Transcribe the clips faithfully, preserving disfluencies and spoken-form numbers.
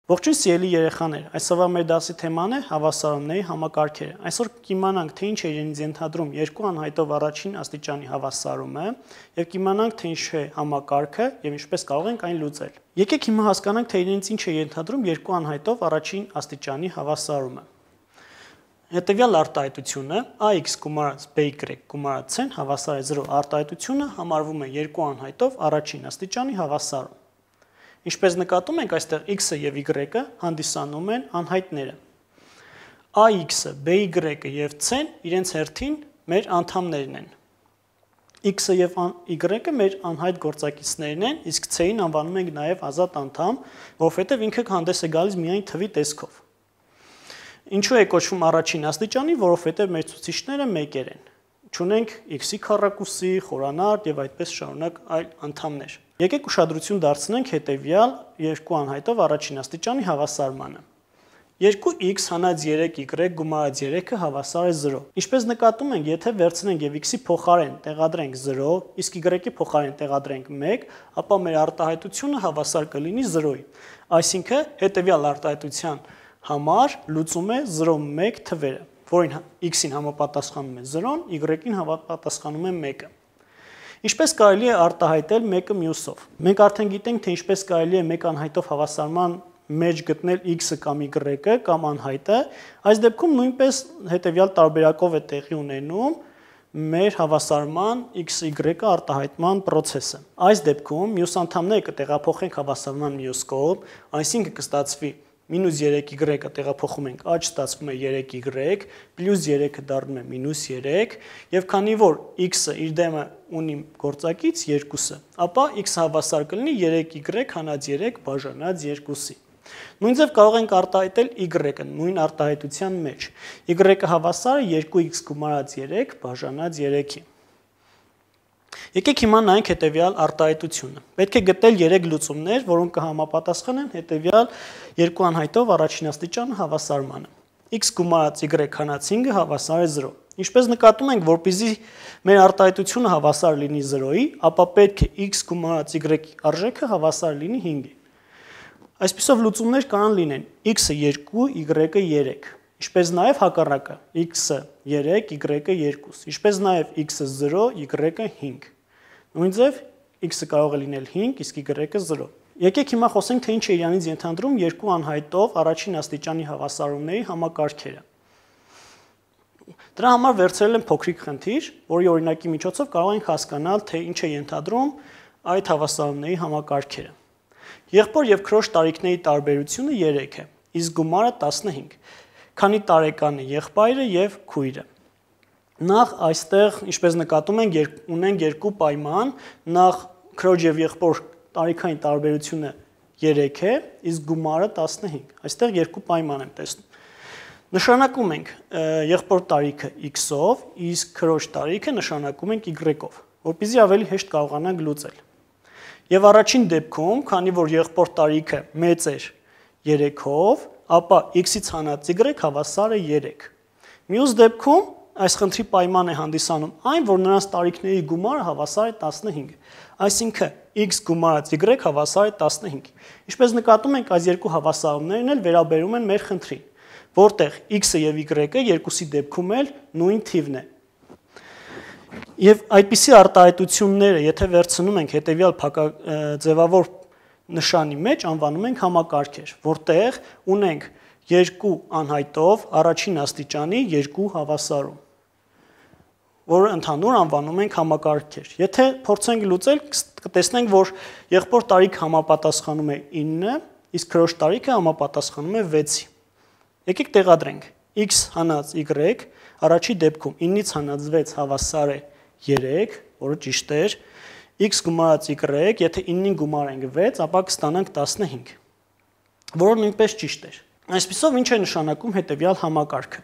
Ողջույն սիրելի երեխաներ, այսօրվա մեր դասի թեման է հավասարումների համակարգերը։ Այսօր կիմանանք, թե ինչ է իրենից ենթադրում երկու անհայտով առաջին աստիճանի հավասարումը եւ կիմանանք, թե ինչ է համակարգը եւ ինչպես կարող ենք այն լուծել։ Եկեք հիմա հասկանանք, թե իրենից ինչ է ենթադրում երկու անհայտով առաջին աստիճանի հավասարումը։ Հետևյալ արտահայտությունը ax գումարած by գումարած c-ն հավասար է զրո արտահայտությունը համարվում է երկու անհայտով առաջին աստիճանի հավասարում։ Ինչպես նկատում ենք, այստեղ x-ը եւ y-ը հանդիսանում են անհայտները։ ax-ը, by-ը եւ c-ն իրենց հերթին մեր անդամներն են։ x-ը եւ y-ը մեր անհայտ գործակիցներն են, իսկ c-ին անվանում ենք նաեւ ազատ անդամ, որովհետեւ ինքը հանդես է գալիս միայն թվի տեսքով։ Ինչու է կոչվում առաջին աստիճանի, որովհետեւ մեր ցուցիչները մեկեր են։ Չունենք x-ի քառակուսի, խորանարդ եւ այդպես շարունակ այլ անդամներ։ Եկեք ուշադրություն դարձնենք հետևյալ երկու անհայտով առաջին աստիճանի հավասարմանը։ երկու x հանած երեք y գումարած երեքը հավասար է զրո։ Ինչպես նկատում ենք, եթե վերցնենք եւ x-ի փոխարեն տեղադրենք զրո, իսկ y-ի փոխարեն տեղադրենք մեկ, ապա մեր արտահայտությունը հավասար կլինի զրոյի։ Այսինքն հետևյալ արտահայտության համար լուծում է զրո մեկ թվերը, որին x-ին համապատասխանում է զրոն, y-ին համապատասխանում է մեկը։ Ինչպես կարելի է արտահայտել մեկը մյուսով։ Մենք արդեն գիտենք, թե ինչպես կարելի է մեկ անհայտով հավասարման մեջ գտնել x-ը կամ y-ը կամ անհայտը, այս դեպքում նույնպես հետևյալ տարբերակով է տեղի ունենում մեր հավասարման x-y արտահայտման process-ը։ Այս դեպքում մյուս անդամները կտեղափոխենք հավասարման մյուս կողմ, այսինքն կստացվի մինուս երեք y-ը տեղափոխում ենք աճ, ստացվում է երեք y, պլյուս երեքը դառնում է մինուս երեք, եւ քանի որ x-ը իր դեմը ունի գործակից երկուսը, ապա x-ը հավասար կլինի երեք y հանած երեք բաժանած երկուսի։ Նույն ձև կարող ենք արտահայտել y-ը նույն արտահայտության մեջ։ y-ը հավասար է երկու x գումարած երեք բաժանած երեքի։ Եկեք հիմա նայենք հետևյալ արտահայտությունը։ Պետք է գտնել երեք լուծումներ, որոնք կհամապատասխանեն հետևյալ երկու անհայտով առաջին աստիճան հավասարմանը։ x գումարած y հանած հինգը հավասար է զրո։ Ինչպես նկատում ենք, որպեսզի մեր արտահայտությունը հավասար լինի զրոյի, ապա պետք է x գումարած y-ի արժեքը հավասար լինի հինգի։ Այսպիսով լուծումներ կարող լինեն x-ը երկու, y-ը երեք, ինչպես նաև հակառակը x-ը երեք, y-ը երկու, ինչպես նաև x-ը զրո, y-ը հինգ։ Նույն ձև x-ը կարող է լինել հինգ, իսկ y-ը զրո։ Եկեք հիմա խոսենք, թե ինչ է իրանից ենթադրում երկու անհայտով առաջին աստիճանի հավասարումների համակարգերը։ Դրա համար վերցրել եմ փոքրիկ խնդիր, որի օրինակի միջոցով կարող ենք հասկանալ, թե ինչ է ենթադրում այդ հավասարումների համակարգերը։ Եղբոր եւ քրոջ տարիքների տարբերությունը երեք է, իսկ գումարը տասնհինգ։ Քանի տարեկան է եղբայրը եւ քույրը։ Նախ այստեղ, ինչպես նկատում ենք, ունենք երկու պայման, նախ քրոջ եւ եղբոր տարիքային տարբերությունը երեք է, իսկ գումարը տասնհինգ։ Այստեղ երկու պայման եմ տեսնում։ Նշանակում ենք եղբոր տարիքը x-ով, իսկ քրոջ տարիքը նշանակում ենք y-ով, որպեսզի ավելի հեշտ կարողանանք լուծել։ Եվ առաջին դեպքում, քանի որ եղբոր տարիքը մեծ էր երեքով, ապա x-ից հանած y հավասար է երեք։ Մյուս դեպքում այս խնդրի պայման է հանդիսանում այն, որ նրանց տարիքների գումարը հավասար է տասնհինգ։ Այսինքն x գումարած y հավասար է տասնհինգ։ Ինչպես նկատում ենք, այս երկու հավասարումներն էլ վերաբերում են մեր խնդրին, որտեղ x-ը եւ y-ը երկուսի դեպքում էլ նույն թիվն է։ Եվ այդպիսի արտահայտությունները, եթե վերցնում ենք հետևյալ ձևավոր նշանի մեջ, անվանում ենք համակարգեր, որտեղ ունենք երկու անհայտով առաջին աստիճանի երկու հավասարում, որը ընդհանուր անվանում ենք համակարգեր։ Եթե փորձենք լուծել, կտեսնենք, որ եղբոր տարիքը համապատասխանում է ինը, իսկ քրոջ տարիքը համապատասխանում է վեցի։ Եկեք տեղադրենք x հանած y առաջի դեպքում ինից հանած վեց հավասար է երեք, որը ճիշտ էր, x գումարած y, եթե ինին գումարենք վեց, ապա կստանանք տասնհինգ, որը նույնպես ճիշտ էր։ Այսպիսով ինչ է նշանակում հետևյալ համակարգը։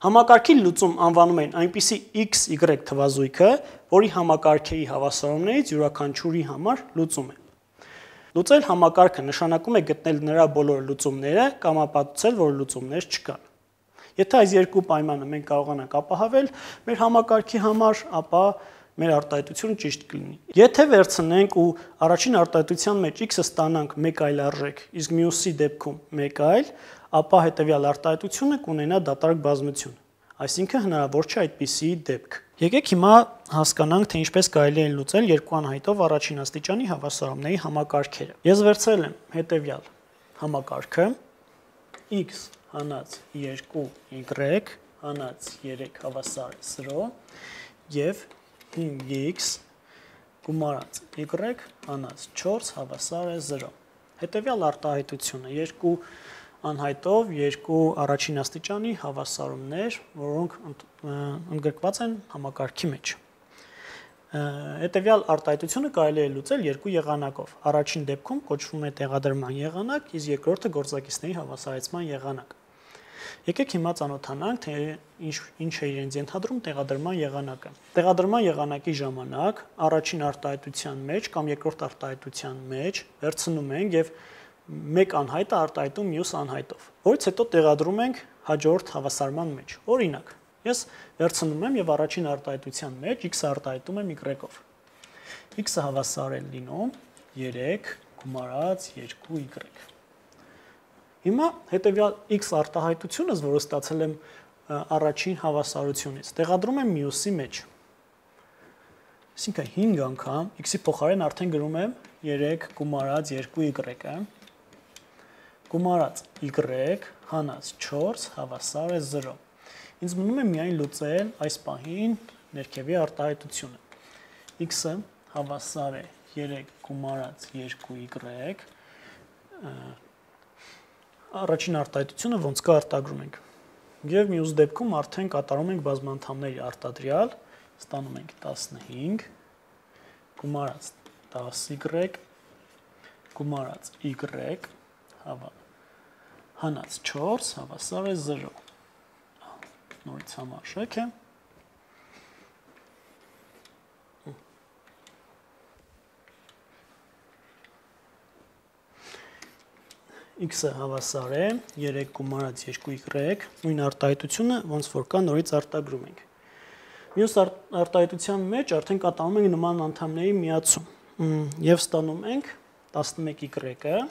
Համակարգի լուծում անվանում են այնպիսի x y թվազույգը, որի համակարգերի հավասարումներից յուրաքանչյուրի համար լուծում է։ Լուծել համակարգը նշանակում է գտնել նրա բոլոր լուծումները կամ ապացուցել, որ լուծումներ չկան։ Եթե այս երկու պայմանը մենք կարողանանք ապահովել մեր համակարգի համար, ապա մեր արտահայտությունը ճիշտ կլինի։ Եթե վերցնենք ու առաջին արտահայտության մեջ x-ը ստանանք մեկ այլ արժեք, իսկ մյուսի դեպքում մեկ այլ, ապա հետևյալ արտահայտությունը կունենա դատարկ բազմություն։ Այսինքն հնարավոր չէ այդպիսի դեպք։ Եկեք հիմա հասկանանք, թե ինչպես կարելի է լուծել երկու անհայտով առաջին աստիճանի հավասարումների համակարգերը։ Ես վերցրել եմ հետևյալ համակարգը x հանած երկու y հանած երեք հավասար զրո եւ հինգ x գումարած y հանած չորս հավասար է զրո։ Հետևյալ արտահայտությունը երկու անհայտով երկու առաջին աստիճանի հավասարումներ, որոնք ընդգրկված են համակարգի մեջ։ Հետևյալ արտահայտությունը կարելի է լուծել երկու եղանակով։ Առաջին դեպքում կոչվում է տեղադրման եղանակ, իսկ երկրորդը գործակիցների հավասարեցման եղանակ։ Եկեք հիմա ծանոթանանք, թե ինչ ինչ է իրենց ենթադրում տեղադրման եղանակը։ Տեղադրման եղանակի ժամանակ առաջին արտահայտության մեջ կամ երկրորդ արտահայտության մեջ վերցնում ենք եւ մեկ անհայտը արտահայտում մյուս անհայտով, որից հետո տեղադրում ենք հաջորդ հավասարման մեջ։ Օրինակ, ես վերցնում եմ եւ առաջին արտահայտության մեջ x-ը արտահայտում եմ y-ով։ x-ը հավասար է լինում երեք գումարած երկու y։ Հիմա հետևյալ x արտահայտությունս, որը ստացել եմ առաջին հավասարությունից, տեղադրում եմ մյուսի մեջ։ Այսինքն հինգ անգամ x-ի փոխարեն արդեն գրում եմ երեք գումարած երկու y-ը գումարած y հանած չորս հավասար է զրո։ Ինձ մնում է միայն լուծել այս պահին ներքևի արտահայտությունը։ x-ը հավասար է երեք գումարած երկու y, առաջին արտահայտությունը ոնց կա արտագրում ենք։ Եվ մյուս դեպքում արդեն կատարում ենք բազմանդամների արտադրյալ, ստանում ենք տասնհինգ գումարած դաս y գումարած y հավա հանած չորս հավասար է զրո։ Նորից համարժեք է։ x-ը հավասար է երեք գումարած երկու y, նույն արտահայտությունը ոնց որ կա նորից արտագրում ենք։ Մյուս արտահայտության մեջ արդեն կատարում ենք նման անդամների միացում եւ ստանում ենք տասնմեկ y-ը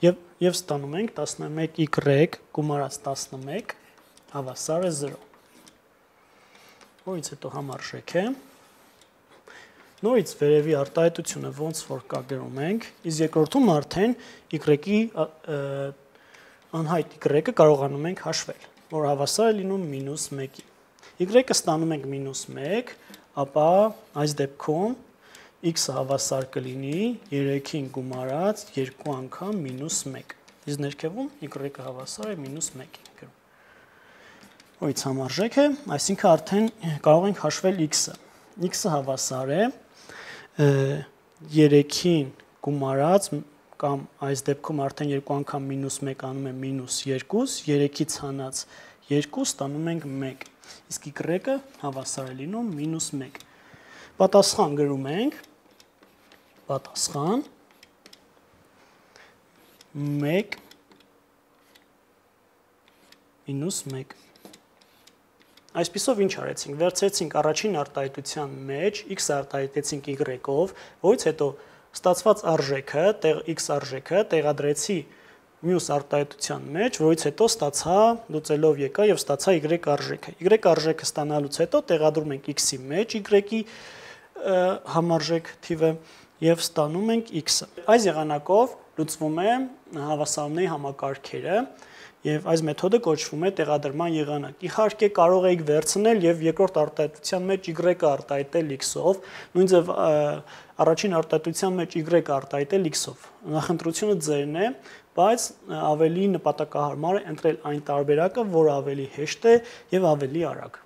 եւ եւ ստանում ենք տասնմեկ y գումարած տասնմեկ հավասար է զրո։ Որից հետո համարժեք է։ Նորից վերևի արտահայտությունը ոնց որ կա գրում ենք, իսկ երկրորդում արդեն y-ի անհայտ y-ը կարողանում ենք հաշվել, որ հավասար է լինում մինուս մեկի։ Y-ը ստանում ենք մինուս մեկ, ապա այս դեպքում x-ը հավասար կլինի երեքին գումարած երկու անգամ մինուս մեկ։ Իսկ ներքևում y-ը հավասար է մինուս մեկին։ Որից համարժեք է, այսինքն արդեն կարող ենք հաշվել x-ը։ X-ը հավասար է երեքին գումարած կամ այս դեպքում արդեն երկու անգամ մինուս մեկ անում է մինուս երկու, երեքից հանած երկու ստանում ենք մեկ, իսկ y-ը հավասար է լինում մինուս մեկ։ Պատասխան գրում ենք, պատասխան մեկ մինուս մեկ։ Այսպիսով ինչ արեցինք, վերցրեցինք առաջին արտահայտության մեջ, x արտահայտեցինք y-ով, որից հետո ստացված արժեքը, x արժեքը տեղադրեցի մյուս արտահայտության մեջ, որից հետո ստացա, լուծելով եկա եւ ստացա y արժեքը։ Y արժեքը ստանալուց հետո տեղադրում ենք x-ի մեջ y-ի համարժեք թիվը եւ ստանում ենք x-ը։ Այս եղանակով լուծվում է հավասարումների համակարգերը եւ այս մեթոդը կոչվում է տեղադրման եղանակ։ Իհարկե կարող եք վերցնել եւ երկրորդ արտահայտության մեջ y-ը արտահայտել x-ով, նույն ձև առաջին արտահայտության մեջ y-ը արտահայտել x-ով։ Նախընտրությունը ձերն է, բայց ավելի նպատակահարմար է ընտրել այն տարբերակը, որը ավելի հեշտ է եւ ավելի արագ։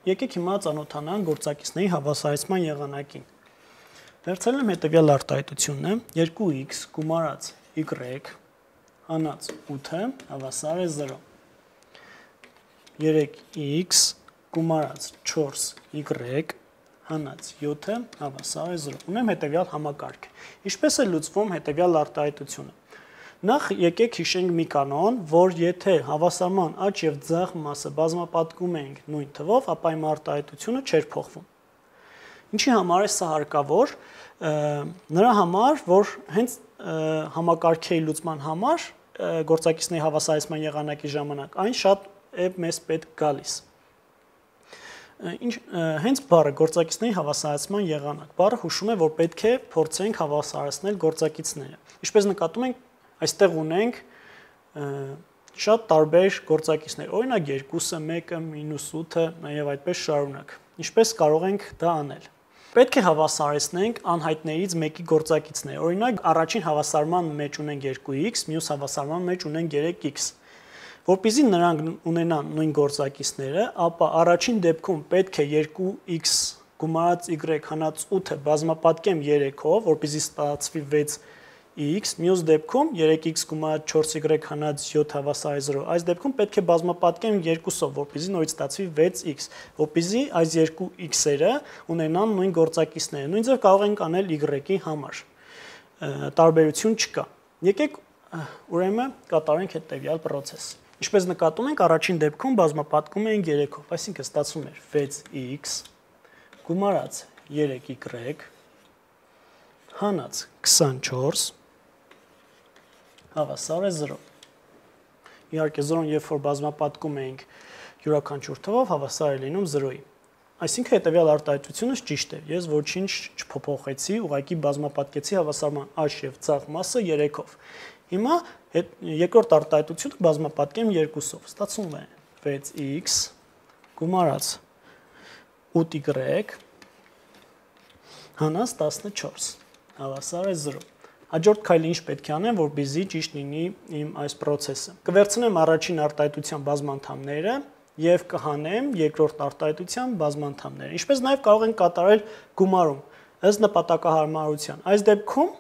Եկեք հիմա ծանոթանանք գործակիցների հավասարեցման եղանակին։ Վերցրել եմ հետևյալ արտահայտությունն է երկու x գումարած y հանած ութը հավասար է զրո։ երեք x գումարած չորս y հանած յոթը հավասար է զրո։ Ունեմ հետևյալ համակարգ։ Ինչպես է լուծվում հետևյալ արտահայտությունը։ Նախ եկեք հիշենք մի կանոն, որ եթե հավասարման աճ եւ ձախ մասը բազմապատկում ենք նույն թվով, ապա իմ արտահայտությունը չէր փոխվում։ Ինչի համար է սա հարկավոր, նրա համար, որ հենց համակարգերի լուծման համար գործակիցների հավասարեցման եղանակի ժամանակ այն շատ է մեզ պետք գալիս։ Ինչ հենց բառը գործակիցների հավասարեցման եղանակ բառը հուշում է, որ պետք է փորձենք հավասարեցնել գործակիցները։ Ինչպես նկատում ենք, այստեղ ունենք շատ տարբեր գործակիցներ, օրինակ երկուսը, մեկը, մինուս ութը, նաև այդպես շարունակ։ Ինչպես կարող ենք դա անել։ Պետք է հավասարեցնենք անհայտներից մեկի գործակիցներ։ Օրինակ առաջին հավասարման մեջ ունենք երկու x, մյուս հավասարման մեջ ունենք երեք x։ Որպեսզի նրանք ունենան նույն գործակիցները, ապա առաջին դեպքում պետք է երկու x գումարած y հանած ութը բազմապատկեմ երեքով, որպեսզի ստացվի վեց x, մյուս դեպքում երեք x գումարած չորս y հանած յոթ հավասար է զրո։ Այս դեպքում պետք է բազմապատկեմ երկուսով, որպեսզի նորից ստացվի վեց x, որպեսզի այս երկու x-երը ունենան նույն գործակիցները։ Նույն ձև կարող ենք անել y-ի համար։ Տարբերություն չկա։ Եկեք ուրեմն կատարենք հետևյալ process։ Ինչպես նկատում ենք, առաջին դեպքում բազմապատկում ենք երեքով, այսինքն ստացվում է վեց x գումարած երեք y հանած քսանչորս հավասար է զրո։ Իհարկե զրոն երբ որ բազմապատկում ենք յուրաքանչյուր թվով հավասար է լինում զրոյի։ Այսինքն հետևյալ արտահայտությունս ճիշտ է։ Ես ոչինչ չփոփոխեցի, ուղղակի բազմապատկեցի հավասարման աճ եւ ցախ մասը երեքով։ Հիմա երկրորդ արտահայտությունը բազմապատկեմ երկուսով։ Ստացվում է վեց x գումարած ութ y հանած տասնչորս հավասար է զրո։ Հաջորդ քայլը ինչ պետք է անեմ, որպեսզի ճիշտ լինի իմ այս process-ը։ Կվերցնեմ առաջին արտահայտության բազմանդամները եւ կհանեմ երկրորդ արտահայտության բազմանդամները։ Ինչպես նաեւ կարող ենք կատարել գումարում ըստ նպատակահարմարության։ Այս դեպքում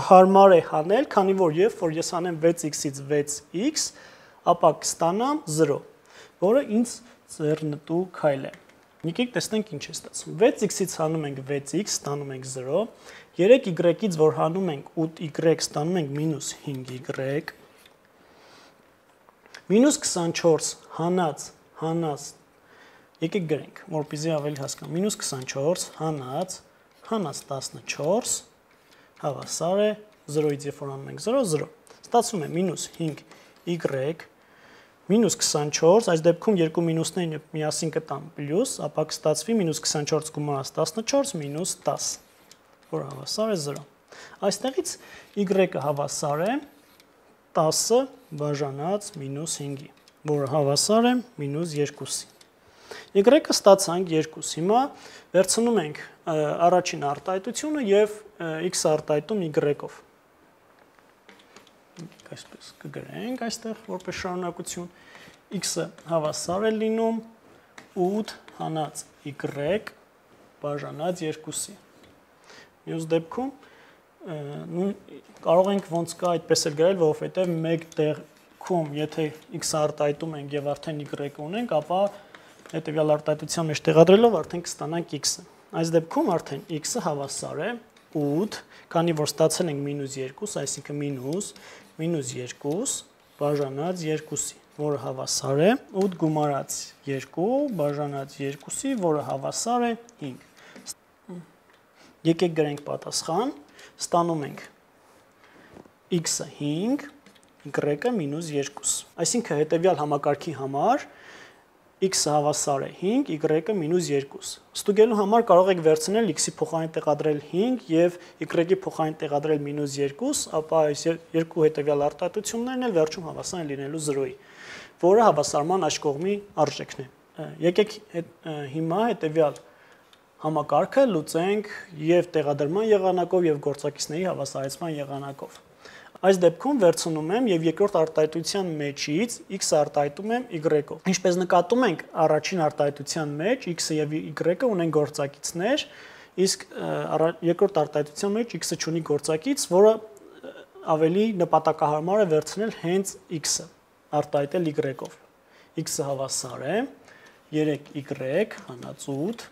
հարմար է հանել, քանի որ երբ որ ես անեմ վեց x-ից վեց x, ապա կստանամ զրո, որը ինձ ձեռնտու քայլ է։ Եկեք տեսնենք ինչ է ստացվում։ վեց x-ից հանում ենք վեց x, ստանում ենք զրո, երեք y-ից որ հանում ենք ութ y, ստանում ենք մինուս հինգ y, մինուս քսանչորս հանած, հանած, եկեք գրենք, որպեսզի ավելի հասկանամ, մինուս քսանչորս հանած, հանած տասնչորս, հավասար է զրոյից երբ որ անում ենք զրո, զրո, ստացվում է մինուս հինգ y, մինուս քսանչորս, այս դեպքում երկու մինուսներն միասին կտան պլյուս, ապա կստացվի մինուս քսանչորս գումարած տասնչորս մինուս տաս, որ հավասար է զրո։ Այստեղից y-ը հավասար է տասը բաժանած մինուս հինգի, որը հավասար է մինուս երկուսի։ Y-ը ստացանք երկու։ Հիմա վերցնում ենք առաջին արտահայտությունը եւ x արտահայտում y-ով։ Այսպես կգրենք այստեղ որպես շարունակություն, x-ը հավասար է լինում ութ հանած y բաժանած երկուսի։ Մյուս դեպքում կարող ենք ոնց կա այդպես էլ գրել, որովհետև մեկ տեղքում, եթե x արտահայտում ենք եւ արդեն y ունենք, ապա հետեւյալ արտահայտության մեջ տեղադրելով արդեն կստանանք x-ը։ Այս դեպքում արդեն x-ը հավասար է ութ, քանի որ ստացել ենք մինուս երկու, այսինքն մինուս մինուս երկու բաժանած երկուսի, որը հավասար է ութ գումարած երկու բաժանած երկուսի, որը հավասար է հինգ։ Եկեք գրենք պատասխան, ստանում ենք x-ը հինգ, y-ը մինուս երկու։ Այսինքն հետևյալ համակարգի համար x-ը հավասար է հինգ, y-ը մինուս երկու։ Ստուգելու համար կարող եք վերցնել x-ի փոխարեն տեղադրել հինգ եւ y-ի փոխարեն տեղադրել մինուս երկու, ապա այս երկու հետևյալ արտահայտություններն էլ վերջում հավասար են լինելու զրոյի, որը հավասարման աջ կողմի արժեքն է։ Եկեք հիմա հետևյալ համակարգը լուծենք եւ տեղադրման եղանակով եւ գործակիցների հավասարեցման եղանակով։ Այս դեպքում վերցնում եմ եւ երկրորդ արտահայտության մեջից x արտահայտում եմ y-ով։ Ինչպես նկատում ենք, առաջին արտահայտության մեջ x-ը եւ y-ը ունեն գործակիցներ, իսկ երկրորդ արտահայտության մեջ x-ը ունի գործակից, որը ավելի նպատակահարմար է վերցնել հենց x-ը արտահայտել y-ով։ x-ը հավասար է երեք y հանած ութ։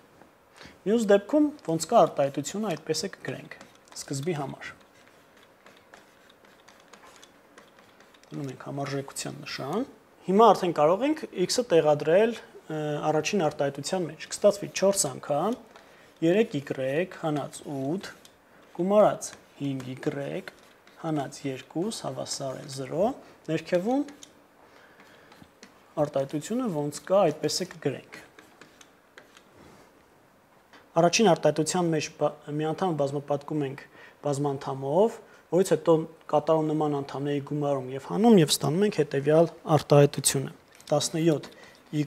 Մյուս դեպքում ոնց կա արտահայտությունը այդպես է կգրենք սկզբի համար։ Դնում ենք համարժեքության նշան։ Հիմա արդեն կարող ենք x-ը տեղադրել առաջին արտահայտության մեջ։ Կստացվի չորս անգամ երեք y հանած ութ գումարած հինգ y հանած երկու հավասար է զրո, ներքևում արտահայտությունը ոնց կա, այդպես է կգրենք։ Առաջին արտահայտության մեջ միանդամը բազմապատկում ենք բազմանդամով, որից հետո կատարում նման անդամների գումարում եւ հանում եւ ստանում ենք հետեւյալ արտահայտությունը։ տասնյոթ y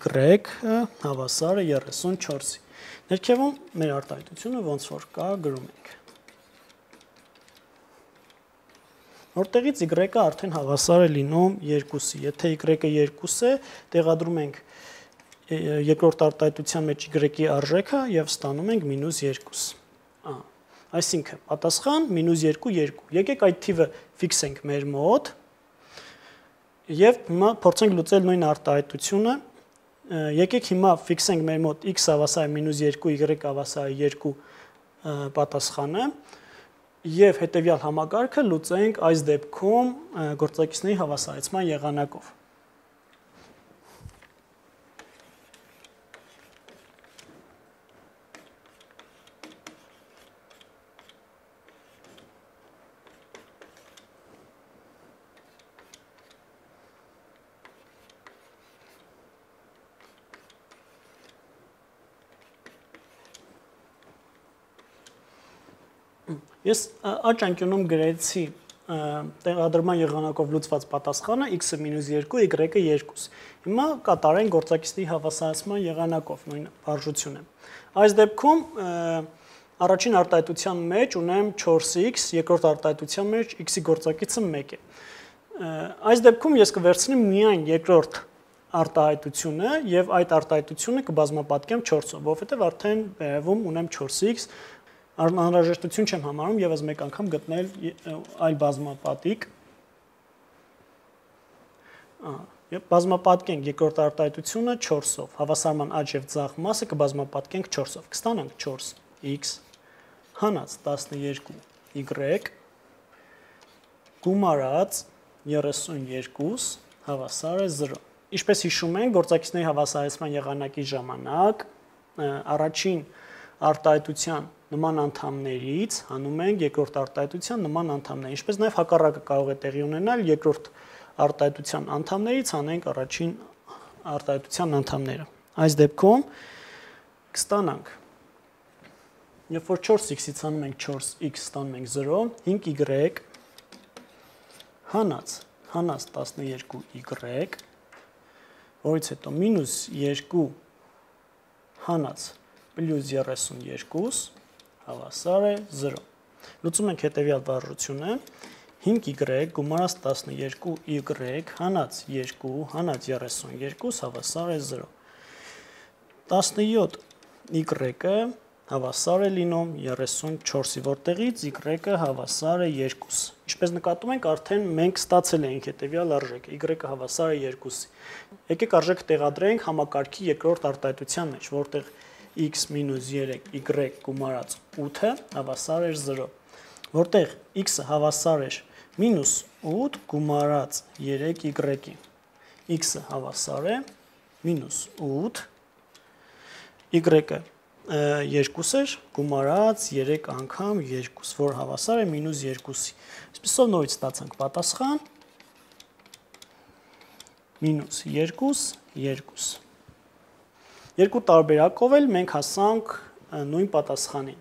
հավասար է երեսունչորսի։ Ներքևում մեր արտահայտությունը ոնց որ կա գրում ենք։ Որտեղից y-ը արդեն հավասար է լինում երկուսի։ Եթե y-ը երկու է, տեղադրում ենք երկրորդ արտահայտության մեջ y-ի արժեքը եւ ստանում ենք մինուս երկու։ Ահա, այսինքն պատասխան մինուս երկու, երկու։ Եկեք այդ թիվը ֆիքսենք մեր մոտ եւ հիմա փորձենք լուծել նույն արտահայտությունը։ Եկեք հիմա ֆիքսենք մեր մոտ x հավասար է մինուս երկու, y հավասար է երկու պատասխանը եւ հետեւյալ համակարգը լուծենք այս դեպքում գործակիցների հավասարեցման եղանակով։ Ես աջ անկյունում գրեցի տեղադրման եղանակով լուծված պատասխանը x-ը մինուս երկու, y-ը երկու։ Հիմա կատարենք գործակիցների հավասարեցման եղանակով նույն վարժությունը։ Այս դեպքում առաջին արտահայտության մեջ ունեմ չորս x, երկրորդ արտահայտության մեջ x-ի գործակիցը մեկ է։ Այս դեպքում ես կվերցնեմ միայն երկրորդ արտահայտությունը եւ այդ արտահայտությունը կբազմապատկեմ չորսով, որովհետեւ արդեն վերևում ունեմ չորս x, անհրաժեշտություն չեմ համարում եւս մեկ անգամ գտնել այլ բազմապատիկ։ Եվ բազմապատկենք երկրորդ արտահայտությունը չորսով, հավասարման աջ եւ ձախ մասը կբազմապատկենք չորսով, կստանանք չորս x հանած տասնյոթ y գումարած երեսունյոթ հավասար է զրո։ Ինչպես հիշում ենք, գործակիցների հավասարեցման եղանակի ժամանակ առաջին արտահայտության նման անդամներից հանում ենք երկրորդ արտահայտության նման անդամներ, ինչպես նաև հակառակը կարող է տեղի ունենալ, երկրորդ արտահայտության անդամներից հանենք առաջին արտահայտության անդամները։ Այս դեպքում կստանանք, երբ որ չորս x-ից հանում ենք չորս x, ստանում ենք զրո, հինգ y հանած հանած տասնյոթ y, որից հետո մինուս երկու հանած պլյուս երեսունյոթ հավասար է զրո։ Լուծում ենք հետևյալ վարժությունը, հինգ y գումարած տասնյոթ y հանած երկու հանած երեսունյոթ հավասար է զրո։ տասնյոթ y-ը հավասար է լինում երեսունչորսի, որտեղից y-ը հավասար է երկու։ Ինչպես նկատում ենք, արդեն մենք ստացել ենք հետևյալ արժեքը, y-ը հավասար է երկուսի։ Եկեք արժեքը տեղադրենք համակարգի երկրորդ արտահայտության մեջ, որտեղ x մինուս երեք y գումարած ութը հավասար էր զրո, որտեղ x-ը հավասար էր մինուս ութ գումարած երեք y-ի, x-ը հավասար է մինուս ութ, y-ը երկու էր գումարած երեք անգամ երկու, որ հավասար է մինուս երկուսի։ Այսպիսով նորից ստացանք պատասխան մինուս երկու, երկու։ Երկու տարբերակով էլ մենք հասանք նույն պատասխանին։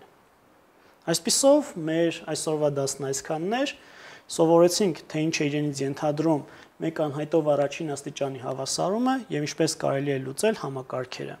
Այսպիսով մեր այսօրվա դասն այսքանն էր, սովորեցինք, թե ինչ է իրենից ենթադրում մեկ անհայտով առաջին աստիճանի հավասարումը եւ ինչպես կարելի է լուծել համակարգերը։